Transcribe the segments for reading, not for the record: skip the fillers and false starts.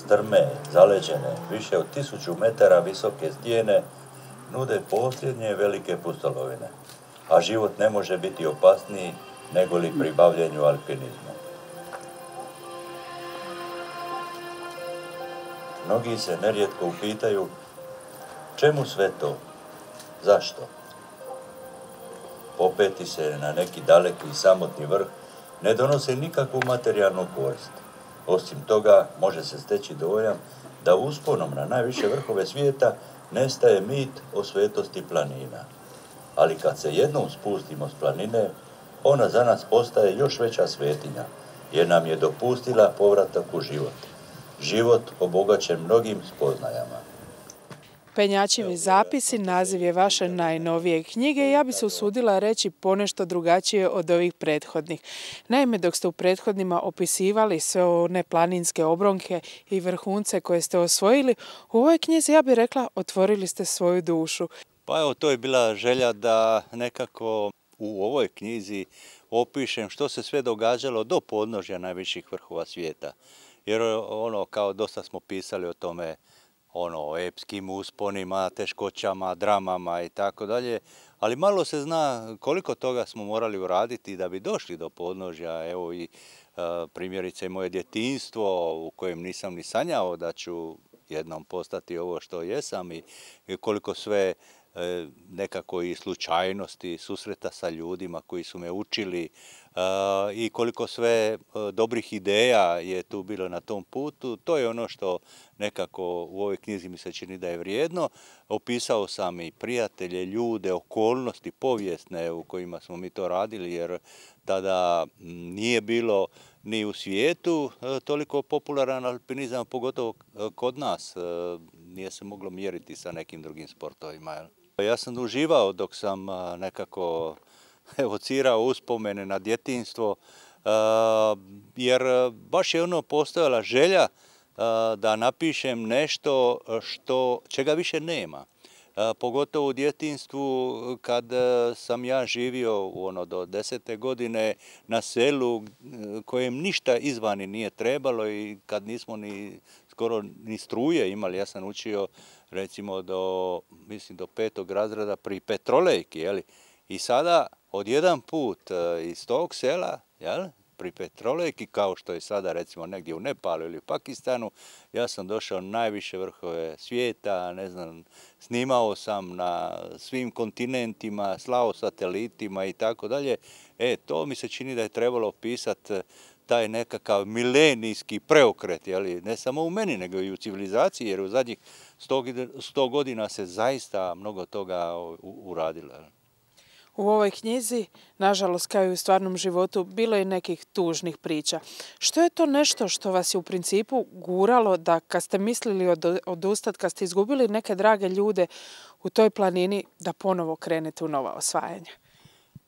Strme, zaleđene, više od 1000 metara visoke stijene nude posljednje velike pustolovine, a život ne može biti opasniji nego li pri bavljenju alpinizmu. Mnogi se nerijetko upitaju čemu sve to, zašto? Popeti se na neki daleki i samotni vrh ne donosi nikakvu materijalnu korist. Osim toga, može se steći dojam da usponom na najviše vrhove svijeta nestaje mit o svetosti planina. Ali kad se jednom spustimo s planine, ona za nas postaje još veća svetinja, jer nam je dopustila povratak u život. Život obogaćen mnogim spoznajama. Penjačivi zapisi naziv je vaše najnovije knjige i ja bi se usudila reći ponešto drugačije od ovih prethodnih. Naime, dok ste u prethodnima opisivali sve one planinske obronke i vrhunce koje ste osvojili, u ovoj knjizi, ja bih rekla, otvorili ste svoju dušu. Pa evo, to je bila želja da nekako u ovoj knjizi opišem što se sve događalo do podnožja najviših vrhova svijeta. Jer kao dosta smo pisali o tome, o epskim usponima, teškoćama, dramama i tako dalje, ali malo se zna koliko toga smo morali uraditi da bi došli do podnožja. Evo i primjerice moje djetinjstvo u kojem nisam ni sanjao da ću jednom postati ovo što jesam i koliko sve nekako i slučajnosti, susreta sa ljudima koji su me učili i koliko sve dobrih ideja je tu bilo na tom putu. To je ono što nekako u ovoj knjizi mi se čini da je vrijedno. Opisao sam i prijatelje, ljude, okolnosti povijesne u kojima smo mi to radili, jer tada nije bilo ni u svijetu toliko popularan alpinizam, pogotovo kod nas. Nije se moglo mjeriti sa nekim drugim sportovima. Ja sam uživao dok sam nekako evocirao uspomene na djetinjstvo, jer baš je postojala želja da napišem nešto čega više nema. Pogotovo u djetinjstvu kad sam ja živio do 10. godine na selu kojem ništa izvani nije trebalo i kad nismo skoro ni struje imali. Ja sam učio recimo do 5. razreda pri Petrolejki, i sada odjedan put iz tog sela, pri Petrolejki, kao što je sada recimo negdje u Nepalu ili u Pakistanu, ja sam došao na najviše vrhove svijeta, snimao sam na svim kontinentima, slao satelitima i tako dalje. To mi se čini da je trebalo opisati taj nekakav milenijski preokret, ne samo u meni, nego i u civilizaciji, jer u zadnjih 100 godina se zaista mnogo toga uradilo. U ovoj knjizi, nažalost kao i u stvarnom životu, bilo je nekih tužnih priča. Što je to nešto što vas je u principu guralo da kad ste mislili odustati, kad ste izgubili neke drage ljude u toj planini, da ponovo krenete u nova osvajanja?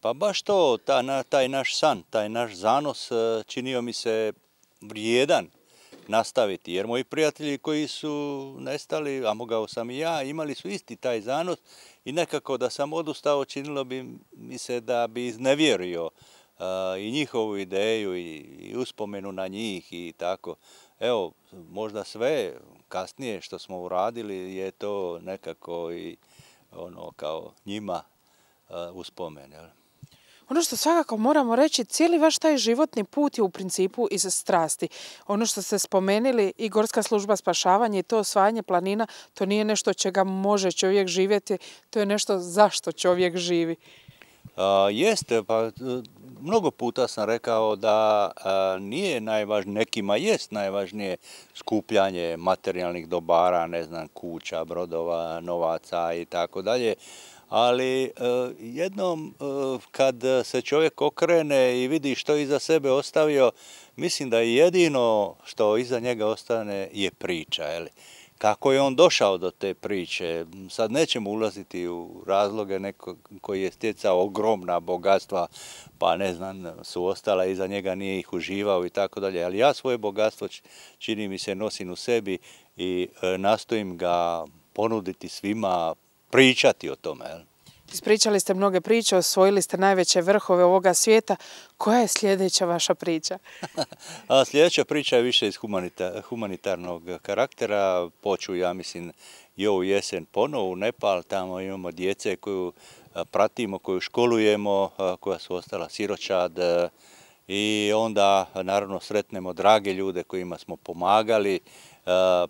Pa baš to, taj naš san, taj naš zanos činio mi se vrijedan nastaviti, jer moji prijatelji koji su nestali, a mogao sam i ja, imali su isti taj zanos i nekako da sam odustao činilo bi mi se da bi iznevjerio i njihovu ideju i uspomenu na njih i tako. Evo, možda sve kasnije što smo uradili je to nekako i kao njima uspomen. Ono što svakako moramo reći, cijeli vaš taj životni put je u principu iz strasti. Ono što ste spomenuli, i Gorska služba spašavanja i to osvajanje planina, to nije nešto čega može čovjek živjeti, to je nešto zašto čovjek živi. Jeste, pa mnogo puta sam rekao da nije najvažnije, nekima jest najvažnije skupljanje materijalnih dobara, kuća, brodova, novaca i tako dalje. Ali jednom kad se čovjek okrene i vidi što iza sebe ostavio, mislim da jedino što iza njega ostane je priča. Kako je on došao do te priče? Sad nećemo ulaziti u razloge neko koji je stjecao ogromna bogatstva, pa su ostala iza njega, nije ih uživao i tako dalje. Ali ja svoje bogatstvo, čini mi se, nosim u sebi i nastojim ga ponuditi svima, pričati o tome. Ispričali ste mnoge priče, osvojili ste najveće vrhove ovoga svijeta. Koja je sljedeća vaša priča? Sljedeća priča je više iz humanitarnog karaktera. Poču, ja mislim, i ovu jesen ponovo u Nepal. Tamo imamo djece koju pratimo, koju školujemo, koja su ostala siročad. I onda, naravno, sretnemo drage ljude kojima smo pomagali.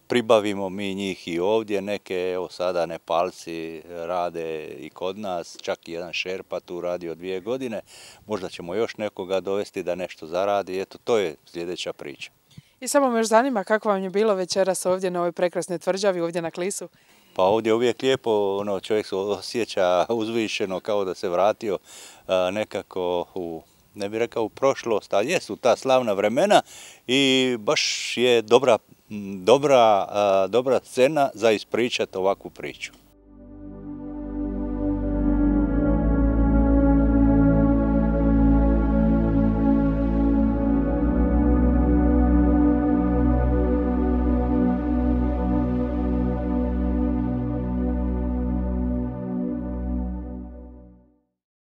Pribavimo mi njih i ovdje, neke, evo sada Nepalci rade i kod nas, čak i jedan Šerpa tu radi od 2 godine, možda ćemo još nekoga dovesti da nešto zaradi, eto to je sljedeća priča. I samo me još zanima kako vam je bilo večeras ovdje na ovoj prekrasnoj tvrđavi, ovdje na Klisu? Pa ovdje je uvijek lijepo, čovjek se osjeća uzvišeno kao da se vratio nekako u, ne bih rekao u prošlost, ali jesu ta slavna vremena i baš je dobra scena za ispričati ovakvu priču.